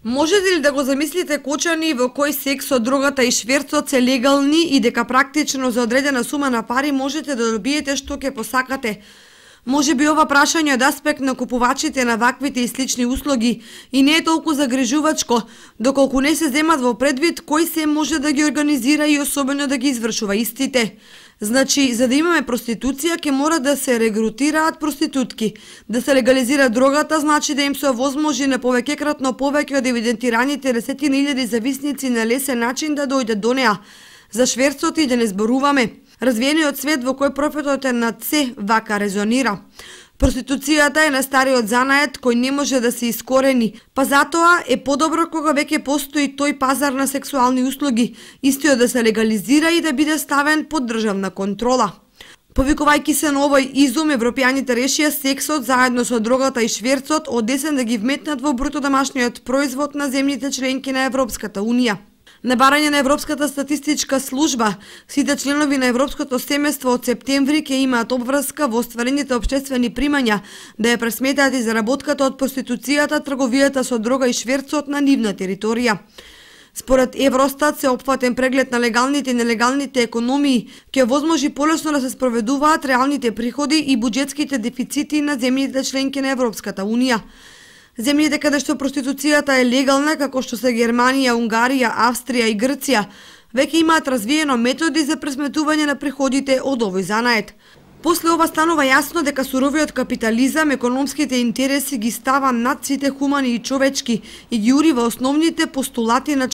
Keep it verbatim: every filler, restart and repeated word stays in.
Можете ли да го замислите кочани во кој сексот, дрогата и шверцот се легални и дека практично за одредена сума на пари можете да добиете што ќе посакате? Може би ова прашање од аспект на купувачите на ваквите и слични услуги и не е толку загрижувачко, доколку не се земат во предвид кој се може да ги организира и особено да ги извршува истите. Значи, за да имаме проституција, ќе мора да се регрутираат проститутки. Да се легализира дрогата, значи да им се овозможи на повеќекратно повеќе од евидентираните десетина илјади зависници на лесен начин да дојдат до неа. За шверцот и да не зборуваме. Развиениот свет во кој профитот е над се вака резонира. Проституцијата е најстариот занает кој не може да се искорени, па затоа е подобро кога веќе постои тој пазар на сексуални услуги, истиот да се легализира и да биде ставен под државна контрола. Повикувајќи се на овој изум, европјаните решија сексот заедно со дрогата и шверцот од десен да ги вметнат во бруто домашниот производ на земјите членки на Европската унија. На барање на Европската статистичка служба, сите членови на Европското семејство од септември ќе имаат обврска во остварените општествени примања да ја пресметаат и заработката од проституцијата, трговијата со дрога и шверцот на нивна територија. Според Евростат, се опфатен преглед на легалните и нелегалните економии ќе возможи полесно да се спроведуваат реалните приходи и буџетските дефицити на земјите членки на Европската унија. Земјите каде што проституцијата е легална, како што се Германија, Унгарија, Австрија и Грција, веќе имаат развиено методи за пресметување на приходите од овој занает. После ова станува јасно дека суровиот капитализам, економските интереси ги става над сите хумани и човечки и ги урива основните постулати на